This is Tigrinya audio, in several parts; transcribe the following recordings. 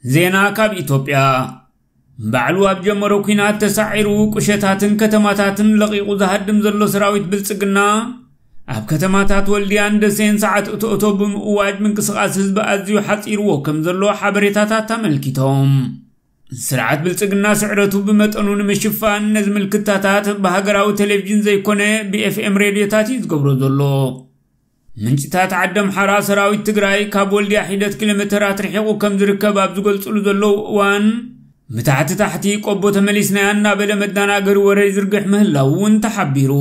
ዜና ካብ ኢትዮጵያ። ባዕሉ ኣብ ጀመሮ ኲናት ተሳዒሩ፣ ቁሸታትን ከተማታትን ለቒቑ ዝሃድም ዘሎ ሰራዊት ብልጽግና፣ ኣብ ከተማታት ወልድያን ደሴን ሰዓት እቶ እቶ ብምእዋጅ፣ ምንቅስቓስ ህዝቢ ኣዝዩ ሓጺርዎ ከም ዘሎ ሓበሬታታት ኣመልኪቶም። ስርዓት ብልጽግና ስዕረቱ ብመጠኑ ንምሽፋን፣ ነዚ ምልክታታት ብሃገራዊ ቴሌቪዥን ዘይኮነ፣ ብኤፍኤም ሬድዮታት እዩ ዝገብሮ ዘሎ። ምንጭታት ዓዲ ኣምሓራ፣ ሰራዊት ትግራይ ካብ ወልድያ ሒደት ኪሎ ሜተራት ርሒቑ ከም ዝርከብ ኣብ ዝገልጽሉ ዘለዉ እዋን፣ ብታሕቲ ታሕቲ ቆቦ ተመሊስናያ እናበለ መደናገሪ ወረ ይዝርግሕ ምህላዉ እውን ተሓቢሩ።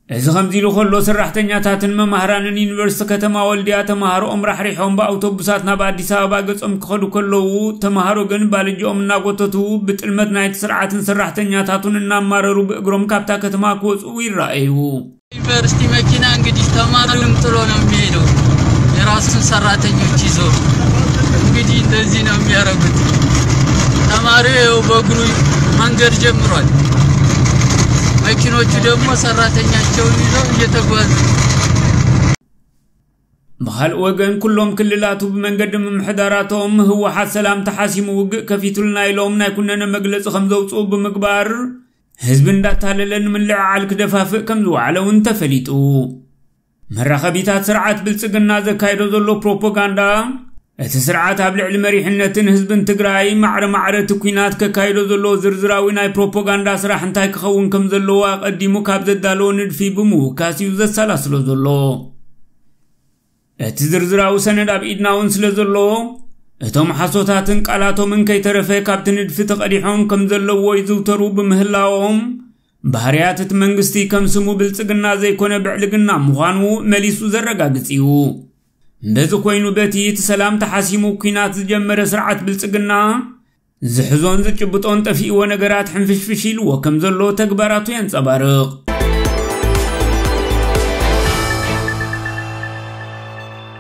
እዚ ከምዚ ኢሉ ከሎ፣ ሰራሕተኛታትን መማህራንን ዩኒቨርሲቲ ከተማ ወልድያ ተማሃሮኦም ራሕሪሖም ብኣውቶቡሳት ናብ ኣዲስ ኣበባ ገጾም ክኸዱ ከለዉ፣ ተማሃሮ ግን ባልጅኦም እናጎተቱ ብጥልመት ናይቲ ስርዓትን ሰራሕተኛታቱን እናማረሩ ብእግሮም ካብታ ከተማ ክወጽኡ ይረኣዩ። ዩኒቨርሲቲ መኪና እንግዲህ ተማሪውን ጥሎ ነው የሚሄደው፣ የራሱን ሰራተኞች ይዞ። እንግዲህ እንደዚህ ነው የሚያደርጉት። ተማሪው ይኸው በእግሩ መንገድ ጀምሯል። መኪኖቹ ደግሞ ሰራተኛቸውን ይዘው እየተጓዙ። ብኻልእ ወገን፣ ኩሎም ክልላቱ ብመንገዲ ምምሕዳራቶም ህወሓት ሰላም ተሓሲሙ ውግእ ከፊቱልና ኢሎም ናይ ኩነነ መግለጺ ከም ዘውፅኡ ብምግባር፣ ህዝቢ እንዳታለለ ንምልዕዓል ክደፋፍእ ከም ዝወዓለ እውን ተፈሊጡ። መራኸቢታት ስርዓት ብልጽግና ዘካይዶ ዘሎ ፕሮፓጋንዳ፣ እቲ ስርዓት ኣብ ልዕሊ መሪሕነትን ህዝብን ትግራይ ማዕረ ማዕረ እቲ ኲናት ከካይዶ ዘሎ ዝርዝራዊ ናይ ፕሮፓጋንዳ ስራሕ እንታይ ክኸውን ከም ዘለዎ ኣቐዲሙ ካብ ዘዳለዎ ንድፊ ብምውካስ እዩ ዘሰላስሎ ዘሎ። እቲ ዝርዝራዊ ሰነድ ኣብ ኢድና እውን ስለ ዘሎ፣ እቶም ሓሶታትን ቃላቶምን ከይተረፈ ካብቲ ንድፊ ተቐዲሖም ከም ዘለዎ ይዝውተሩ ብምህላዎም፣ ባህርያት እቲ መንግስቲ ከም ስሙ ብልጽግና ዘይኮነ ብዕልግና ምዃኑ መሊሱ ዘረጋግጽ እዩ። በዚ ኮይኑ፣ በቲ እቲ ሰላም ተሓሲሙ ኲናት ዝጀመረ ስርዓት ብልጽግና፣ ዝሕዞን ዝጭብጦን ጠፊእዎ ነገራት ሕንፍሽፍሽ ኢልዎ ከም ዘሎ ተግባራቱ የንጸባርቕ።